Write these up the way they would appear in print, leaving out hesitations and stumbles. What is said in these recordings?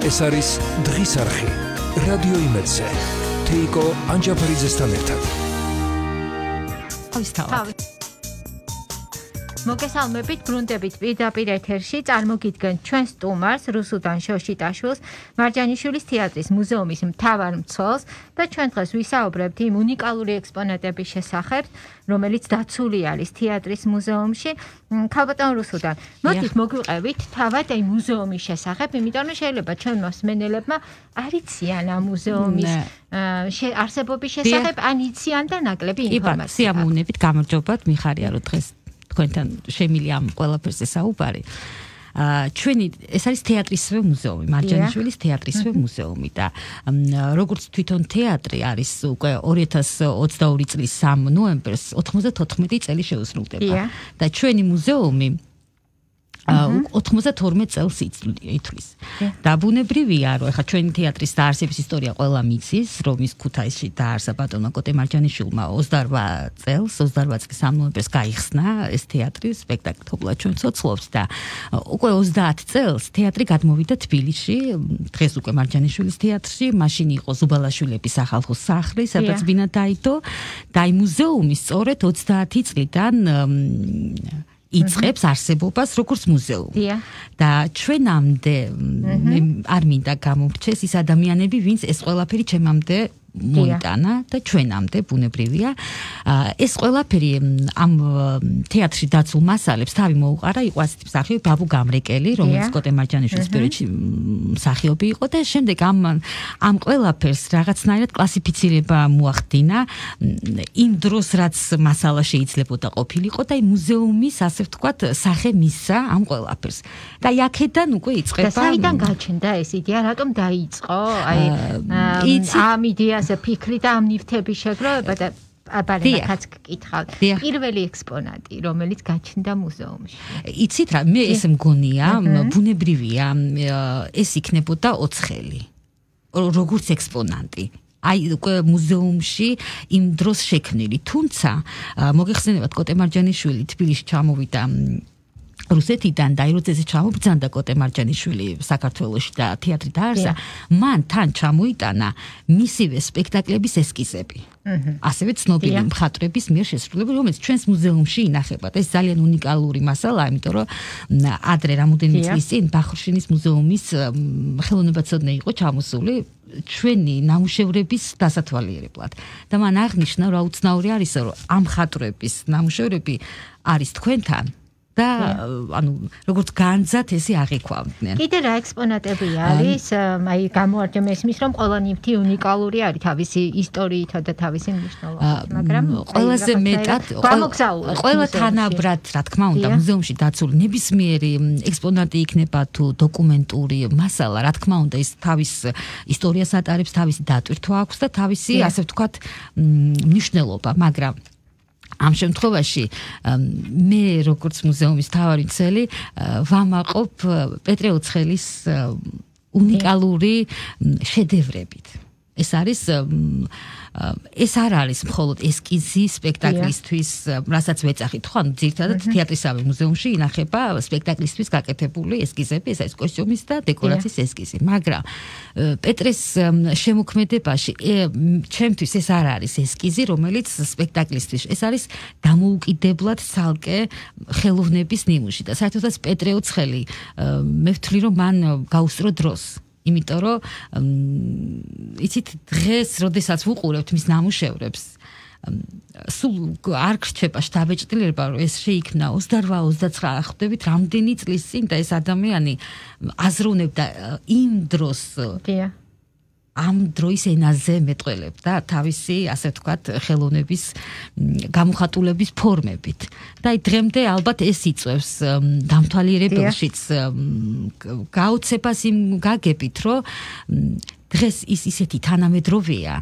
ეს არის დღის არხი რადიო იმედზე თეიკო ანჯაფარიძესთან ერთად მოგესალმებით ბრუნდებით პირდაპირ ეთერში წარმოგიდგენთ ჩვენ სტუმარს რუსუდან შოშიტაშვილს მარჯანიშვილის თეატრის მუზეუმის მთავარ მცველს და ჩვენ დღეს ვისაუბრებთ იმ უნიკალური ექსპონატების შესახებ რომელიც დაცული არის თეატრის მუზეუმში ქალბატონ რუსუდან მოდით მოგვიყევით თავად აი მუზეუმის შესახებ იმიტომ რომ შეიძლება ჩვენ მოსმენელებმა არ იციან ამ მუზეუმის არსებობის შესახებ ან იციან და ნაკლები ინფორმაცია სიამოვნებით გამარჯობათ მიხარია რომ დღეს თქვენთან შემილი ამ ყველაფერზე საუბარი. ჩვენი ეს არის თეატრისვე მუზეუმი, მარჯანიშვილის თეატრისვე მუზეუმი და როგორც თვითონ თეატრი არის უკვე 2022 წლის 3 ნოემბერს 94 წელი შეუსრულდება და ჩვენი მუზეუმი 92 წელს ითვლის. და ბუნებრივია, რომ ახლა ჩვენი თეატრის დაარსების ისტორია ყველა მიცის, რომ ის ქუთაისში დაარსა ბატონმა კოტე მარჯანიშვილმა 28 წელს, 28 წლის 3 ნოემბერს გაიხსნა ეს თეატრი, სპექტაკლი თობლა ჩვენ ცოცხლობთ და უკვე 30 წელს თეატრი გადმოვიდა თბილისში, დღეს უკვე მარჯანიშვილის თეატრში, მაშინ იყო ზუბალაშვილების სახალხო სახლი, სადაც ბინა დაიდო და აი მუზეუმი სწორედ 30 წლიდან იწყებს არსებობას როგორც მუზეუმი. და ჩვენამდე არ მინდა გამომრჩეს ის ადამიანები, ვინც ეს ყველაფერი ჩემამდე მოიტანა და ჩვენამდე ბუნებრივია. ეს ყველაფერი ამ თეატრში დაცულ მასალებს თავი მოუყარა, იყო ასეთი მსახიობი ბაბუ გამრეკელი, რომელიც კოტე მარჯანიშვილის პერიოდში მსახიობი იყო და შემდეგ ამ ყველაფერს რაღაცნაირად კლასიფიცირება მოახდინა იმ დროს რაც მასალა შეიძლებოდა ყოფილიყო და მუზეუმის ასე ვთქვათ სახე მისცა ამ ყველაფერს. და აქედან უკვე იწყება. და საიდან გაჩნდა ეს იდეა, რატომ დაიწყო? აი ამ იდეას ფიქრი და ამ ნივთების შეგროვება და აბარენაკაც გკითხავთ. პირველი ექსპონატი, რომელიც გაჩნდა მუზეუმში. იცით რა, მე ეს მგონია, ბუნებრივია, ეს იქნებოდა ოცხელი. როგორც ექსპონატი. აი უკვე მუზეუმში იმ დროს შექმნილი. თუმცა მოგეხსენებათ კოტე მარჯანიშვილი თბილისში ჩამოვიდა რუსეთიდან და რუსეთში ჩამობრძანდა კოტე მარჯანიშვილი საქართველოში და თეატრი დაარსა, მან თან ჩამოიტანა მისივე სპექტაკლების ესკიზები. ასევე ცნობილი მხატვრების მიერ შესრულებული, რომელიც ჩვენს მუზეუმში ინახება. და ეს ძალიან უნიკალური მასალაა, იმიტომ რომ ადრე რამოდენიმე წლის წინ ბახრუშინის მუზეუმის ხელოვნებაცოდნე იყო ჩამოსული ჩვენი ნამუშევრების დასათვალიერებლად. და მან აღნიშნა, რომ უცნაური არის, რომ ამ მხატვრების ნამუშევრები არის თქვენთან და ანუ როგორც განძად ესე აღიქვამდნენ. კიდე რა ექსპონატები არის? აი გამოარჯა მესმის რომ ყველა ნივთი უნიკალური არის თავისი ისტორიითა და თავისი მნიშვნელობით, მაგრამ ყველაზე მეტად ყველა თანაბრად, რა თქმა უნდა, მუზეუმში დაცული ნებისმიერი ექსპონატი იქნება თუ დოკუმენტური მასალა, რა თქმა უნდა, ის თავის ისტორიას ატარებს, თავისი დატვირთვა აქვს და თავისი ასე ვთქვათ მნიშვნელობა, მაგრამ ამ შემთხვევაში მე როგორც მუზეუმის მთავარი მცველი ვამაყობ პეტრე ოცხელის უნიკალური შედევრებით. ეს არ არის მხოლოდ ესკიზი სპექტაკლისთვის, რასაც ვეძახით, ხო, ანუ ძირითადად თეატრისავე მუზეუმში ინახება სპექტაკლისთვის გაკეთებული ესკიზები, ეს არის კოსტიუმის და დეკორაციის ესკიზი, მაგრამ პეტრეს შემოქმედებაში ჩემთვის ეს არ არის ესკიზი, რომელიც სპექტაკლისთვის, ეს არის დამოუკიდებლად ცალკე ხელოვნების ნიმუში და საერთოდაც პეტრე ოცხელი მე ვთვლი, რომ მან გაუსწრო დროს. იმიტომ რომ იცით დღეს როდესაც ვუყურებთ მის ნამუშევრებს სულ არ გრჩება შთაბეჭდილება რომ ეს შეიქმნა 28-29 ხვდებით რამდენი წლის წინ და ეს ადამიანი აზროვნებდა იმ დროს ამ დროის ენაზე მეტყველებდა თავისი ასე ვთქვათ ხელოვნების გამოხატულების ფორმებით და აი დღემდე ალბათ ეს იწევს დამთვალიერებელშიც გაოცებას იმ გაგებით რომ დღეს ის ისეთი თანამედროვეა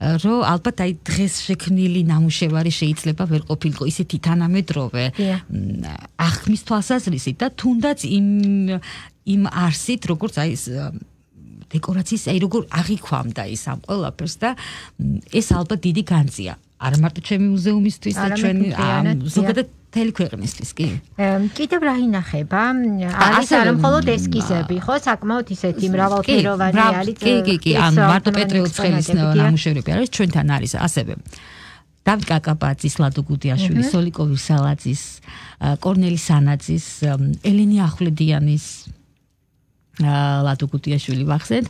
რომ ალბათ აი დღეს შექმნილი ნამუშევარი შეიძლება ვერ ყოფილიყო ისეთი თანამედროვე აღქმის თვალსაზრისით და თუნდაც იმ არსით როგორც აი დეკორაციის აი როგორ აღიქვამდა ის ამ ყველაფერს და ეს ალბათ დიდი განძია არა მარტო ჩემი მუზეუმისთვის და ჩვენი ზოგადად მთელი ქვეყნისთვის კი. კიდევ რა ინახება? არის არა მხოლოდ ესკიზები, ხო? საკმაოდ ისეთი მრავალფეროვანი არის. კი, ან მარტო პეტრე უცხელის ნამუშევრები არის, ჩვენთან არის ასევე. დავით კაკაბაძის, ლადო გუდიაშვილის, სოლიკო ვირსალაძის, კორნელი სანაძის, ელენე ახვლედიანის, ლადო გუდიაშვილი ვახსენთ,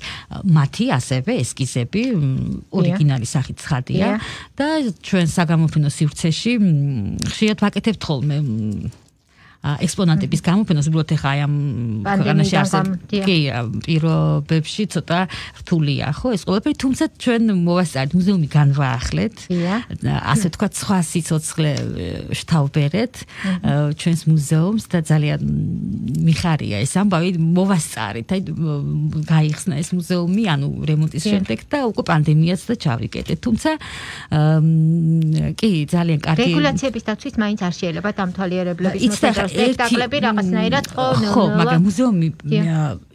მათი ასევე ესკიზები ორიგინალი სახით ცხადია და ჩვენ საგამოფენო სივრცეში ხშირად ვაკეთებთ ხოლმე ექსპონატების გამოფენას, უბრალოდ ახლა აი ამ ქვეყანაში კი პირობებში ცოტა რთულია, ხო, ეს ყველაფერი, თუმცა ჩვენ მოვასწარეთ, მუზეუმი განვაახლეთ, ასე ვთქვათ, სხვა სიცოცხლე შთავბერეთ ჩვენს მუზეუმს და ძალიან მიხარია ეს ამბავი, მოვასწარეთ, აი გაიხსნა ეს მუზეუმი, ანუ რემონტის შემდეგ და უკვე პანდემიაც და ჩავიკეტეთ, თუმცა კი ძალიან კარგი რეგულაციების დაცვით მაინც არ შეიძლება დამთვალიერებლების მოსაწყო სპექტაკლები რაღაცნაირად ხო, მაგრამ მუზეუმი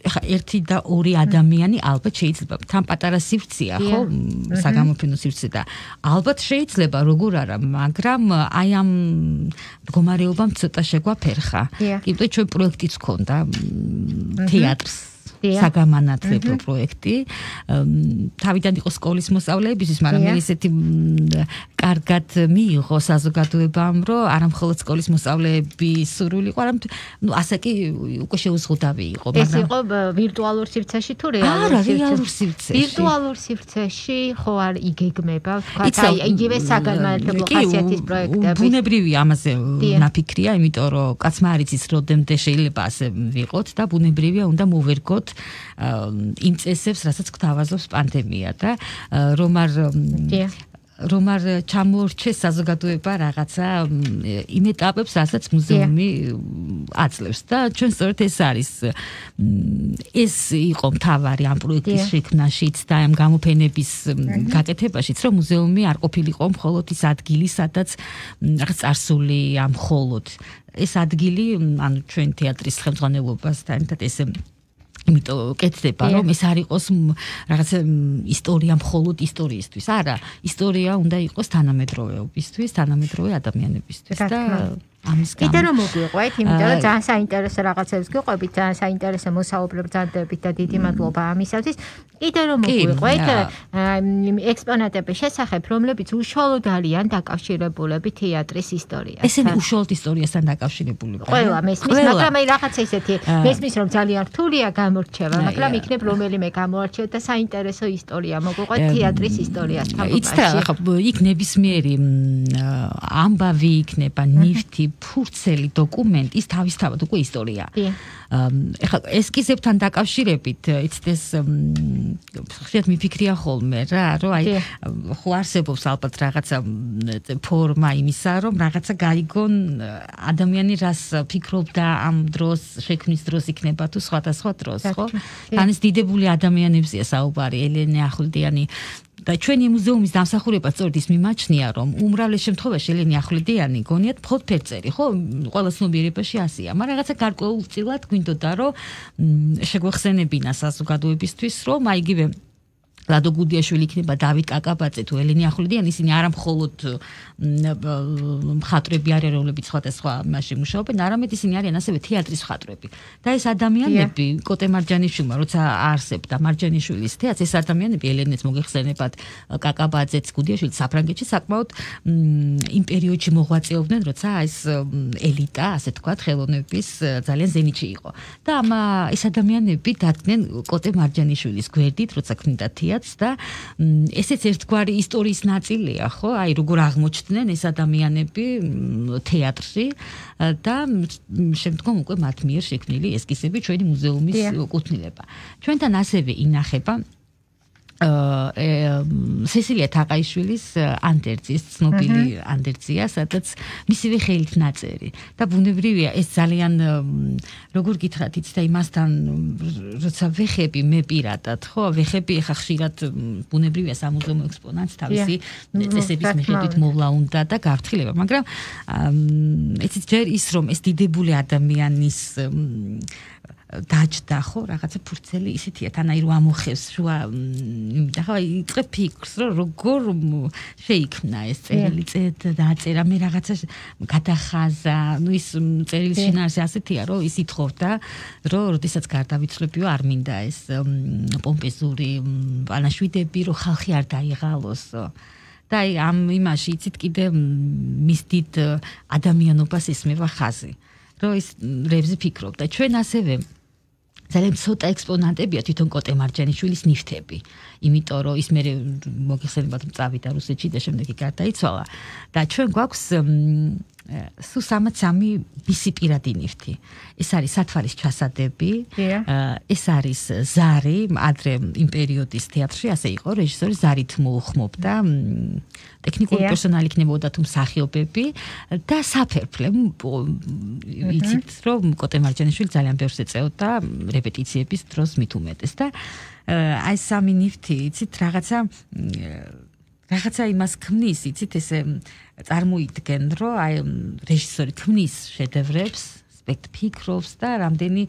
ეხა 1 და 2 ადამიანი ალბათ შეიძლება თან პატარა სივრცეა, ხო, საგამოფენო სივრცე და ალბათ შეიძლება როგორ არა, მაგრამ აი ამ მდგომარეობამ ცოტა შეგვაფერხა. იმიტომ ჩვენ პროექტიც ჰქონდა თეატრს საგამანათლებლო პროექტი. თავიდან იყო სკოლის მოსწავლეებისთვის, მაგრამ მე ისეთი კარგად მიიღო საზოგადოებამ, რომ არა მხოლოდ სკოლის მოსწავლეების სურვილი იყო, არამედ ასე კი უკვე შეუზღუდავი იყო, მაგრამ ეს იყო ვირტუალურ სივრცეში თუ რეალურ სივრცეში? რეალურ სივრცეში. ვირტუალურ სივრცეში ხო არ იგეგმება, ვთქვათ, აი იგივე საგამანათლებლო ხასიათის პროექტები. ბუნებრივია ამაზე ნაფიქრია, იმიტომ რომ კაცმა არ იცის როდემდე შეიძლება ასე ვიყოთ და ბუნებრივია უნდა მოვერგოთ იმ წესებს, რასაც გვთავაზობს პანდემია და რომ არ ჩამოურჩეს საზოგადოება რაღაცა იმ ეტაპებს, რასაც მუზეუმი აძლევს და ჩვენ სწორედ ეს არის ეს იყო მთავარი ამ პროექტის შექმნაშიც და ამ გამოფენების გაკეთებაშიც, რომ მუზეუმი არ ყოფილიყო მხოლოდ ის ადგილი, სადაც რაღაც წარსული ამ მხოლოდ ეს ადგილი, ანუ ჩვენ თეატრის ხელმძღვანელობასთან ერთად ეს იმიტომ კეთდება, რომ ეს არ იყოს რაღაც ისტორია მხოლოდ ისტორიისთვის. არა, ისტორია უნდა იყოს თანამედროვეობისთვის, თანამედროვე ადამიანებისთვის და ამის გამო. კიდე რომ მოგვიყვეთ, იმიტომ რომ ძალიან საინტერესო რაღაცებს გიყვებით, ძალიან საინტერესო მოსაუბრე ბრძანდებით და დიდი მადლობა ამისათვის. კიდე რომ მოგვიყვეთ, ექსპონატების შესახებ, რომლებიც უშუალოდ არიან დაკავშირებულები თეატრის ისტორიასთან. ესენი უშუალოდ ისტორიასთან დაკავშირებულები. ყველა მესმის, მაგრამ აი რაღაცა ისეთი მესმის, რომ ძალიან რთულია გამორჩევა, მაგრამ იქნებ რომელიმე გამორჩევ და საინტერესო ისტორია მოგვიყვეთ თეატრის ისტორიასთან. იცით, ახლა იქ ნებისმიერი ამბავი იქნება, ნივთი, ფურცელი დოკუმენტი, ის თავისთავად უკვე ისტორია. ეხლა ესკიზებთან დაკავშირებით, იცით ეს ხშირად მიფიქრია ხოლმე რა, რომ აი ხო არსებობს ალბათ რაღაცა ფორმა იმისა, რომ რაღაცა გაიგონ ადამიანი რას ფიქრობდა ამ დროს, შექმნის დროს იქნება თუ სხვადასხვა დროს, ხო? თან ეს დიდებული ადამიანებზეა საუბარი, ელენე ახვლედიანი და ჩვენი მუზეუმის დამსახურება სწორედ ის მიმაჩნია, რომ უმრავლეს შემთხვევაში ელენე ახვლედიანი გონიათ მხოლოდ ფერწერი, ხო? ყველა ცნობიერებაში ასეა, მაგრამ რაღაცა გარკვეულწილად გვინდოდა, რომ შეგვეხსენებინა საზოგადოებისთვის, რომ აი იგივე ლადო გუდიაშვილი იქნება, დავით კაკაბაძე თუ ელენე ახვლედიანი, ისინი არა მხოლოდ მხატვრები არიან, რომლებიც სხვადასხვა მასში მუშაობენ, არამედ ისინი არიან ასევე თეატრის მხატვრები. და ეს ადამიანები, კოტე მარჯანიშვილმა, როცა არსებდა მარჯანიშვილის თეატრს, ეს ადამიანები ელენეც მოგეხსენებათ, კაკაბაძეც, გუდიაშვილი საფრანგეთში საკმაოდ იმ პერიოდში მოღვაწეობდნენ, როცა ეს ელიტა, ასე თქვათ, ხელოვნების ძალიან ზენიტში იყო. და ეს ადამიანები დადგნენ კოტე მარჯანიშვილის გვერდით, როცა ქმნიდა თეატრს და ესეც ერთგვარი ისტორიის ნაწილია, ხო? აი როგორ აღმოჩნდნენ ეს ადამიანები თეატრში და შემდგომ უკვე მათ მიერ შექმნილი ესკიზები ჩვენი მუზეუმის კუთვნილება. ჩვენთან ასევე ინახება სესილია თაყაიშვილის ანდერძის, ცნობილი ანდერძია, სადაც მისივე ხელით ნაწერი. და ბუნებრივია ეს ძალიან როგორ გითხრათ, იცით, იმასთან როცა ვეხები მე პირადად, ხო, ვეხები ახლა ხშირად ბუნებრივია სამუზეუმო ექსპონატს თავისი წესების მიხედვით მოვლა უნდა და გავთხილება, მაგრამ იცით, ჯერ ის რომ ეს დიდებული ადამიანის დაჯდა ხო რაღაცა ფურცელი ისეთია თანაი რომ ამოხევს შუა და ხო იწყე ფიქრს რომ როგორ შეიქმნა ეს წერილი დაწერა მე რაღაცა გადახაზა ნუ ის წერილის შინაარსი ასეთია რომ ის ითხოვდა რომ როდესაც გარდავიცვლებიო არ მინდა ეს პომპეზური პანაშვიდები რომ ხალხი არ დაიღალოსო და ამ იმაში იცით კიდე მის დიდ ადამიანობას ესმევა ხაზი რომ ის რებზე ფიქრობ და ჩვენ ასევე ძალიან ცოტა ექსპონატებია თვითონ კოტე მარჯანიშვილის ნივთები იმიტომ რომ ის მე მოგეხსენებათ წავიდა რუსეთში და შემდეგ გარდაიცვალა და ჩვენ გვაქვს სულ 63 მისი პირადი ნივთი ეს არის სათვალის ჩასადები ეს არის ზარი ადრე იმ პერიოდის თეატრში ასე იყო რეჟისორი ზარით მოუხმობდა ტექნიკური პერსონალი იქნებოდა თუ მსახიობები და საფერფლე იცით რომ კოტე მარჯანიშვილი ძალიან ბევრს ეწეოდა რეპეტიციების დროს მით უმეტეს და აი სამი ნივთი იცით რაღაცა იმას ქმნის იცით ესე წარმოიდგენ რომ აი რეჟისორი ქმნის შედევრებს ფიქრობს და რამდენი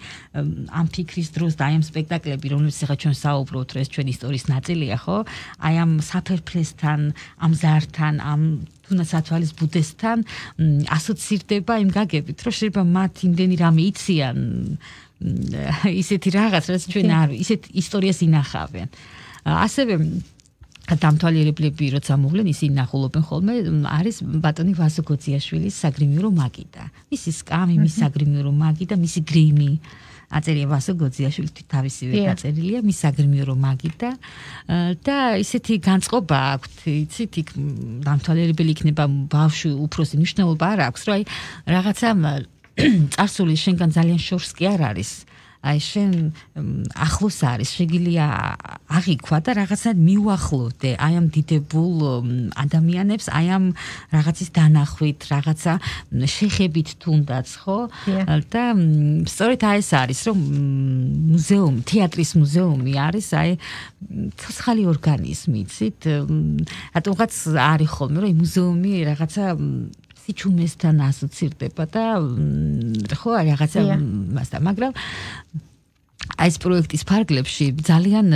ამ ფიქრის დროს და აი ამ სპექტაკლები რომლებიც ახლა ჩვენ საუბრობთ რომ ეს ჩვენი ისტორიის ნაწილია ხო აი ამ საფერფლესთან ამ ზართან ამ თუნდაც სათვალის ბუდესთან ასოცირდება იმ გაგებით რომ შეიძლება მათ იმდენი რამე იციან ისეთი რაღაც რაც ჩვენ არ ისეთ ისტორიას ინახავენ ასევე დამთვალიერებლები როცა მოვლენ ისინი ნახულობენ ხოლმე არის ბატონი ვასო გოძიაშვილის საგრიმირო მაგიდა მისი სკამი მისი საგრიმირო მაგიდა მისი გრიმი აწერია ვასო გოძიაშვილის თავისივე დაწერილია მისი საგრიმირო მაგიდა და ისეთი განწყობა აქვს იცით იქ დამთვალიერებელი იქნება ბავშვი უფროსი მნიშვნელობა არ აქვს რომ აი რაღაცა წარსული შენგან ძალიან შორს კი არ არის აი შენ ახლოს არის შეგიძლია აღიქვა და რაღაცა მიუახლოვდე აი ამ დიდებულ ადამიანებს აი ამ რაღაცის დანახვით რაღაცა შეხებით თუნდაც ხო და სწორედ აი ეს არის რომ მუზეუმი თეატრის მუზეუმი არის აი ცოცხალი ორგანიზმი იცით რატომღაც არის ხოლმე რომ მუზეუმი რაღაცა ჩუმესთან ასოცირდება და ხო რაღაცა მასთან მაგრამ აი ეს პროექტის ფარგლებში ძალიან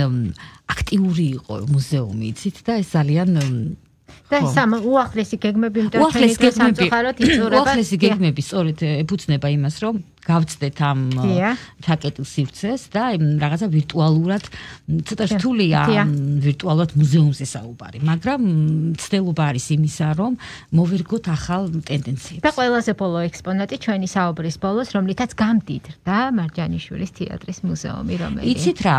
აქტიური იყო მუზეუმი იცით და ეს ძალიან და სამ უახლესი გეგმები უახლესი გეგმები სწორედ ეფუძნება იმას რომ გავწდეთ ამ ჩაკეტილ სივრცეს და რაღაცა ვირტუალურად ცოტა რთულია ვირტუალურად მუზეუმზე საუბარი მაგრამ ცდელობა არის იმისა რომ მოვერგოთ ახალ ტენდენციებს და ყველაზე ბოლო ექსპონატი ჩვენი საუბრის ბოლოს რომლითაც გამდიდრდა მარჯანიშვილის თეატრის მუზეუმი რომელიც იცით რა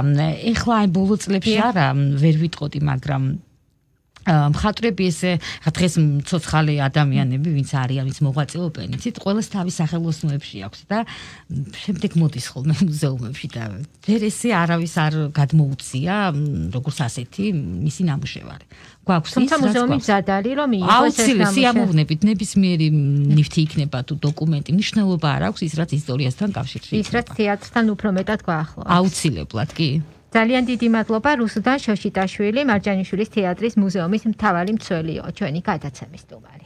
ეხლა აი ბოლო წლებში არა ვერ ვიტყოდი მაგრამ მხატვრები ესე დღეს მცოცხალი ადამიანები ვინც არიან ვინც მოღვაწეობენ იცით ყველას თავის სახელოსნოებში აქვს და შემდეგ მოდის ხოლმე მუზეუმებში და ვერ ესე არავის არ გადმოუცია როგორც ასეთი მისი ნამუშევარი გვაქვს თუმცა მუზეუმი მზად არის რომ მიიღოს ეს ნამუშევარი სიამოვნებით ნებისმიერი ნივთი იქნება თუ დოკუმენტი მნიშვნელობა არ აქვს ის რაც ისტორიასთან კავშირში ის რაც თეატრთან უფრო მეტად გვაახლოვებს აუცილებლად კი ძალიან დიდი მადლობა რუსუდან შოშიტაშვილი მარჯანიშვილის თეატრის მუზეუმის მთავარი მცველიო ჩვენი გადაცემის სტუმარი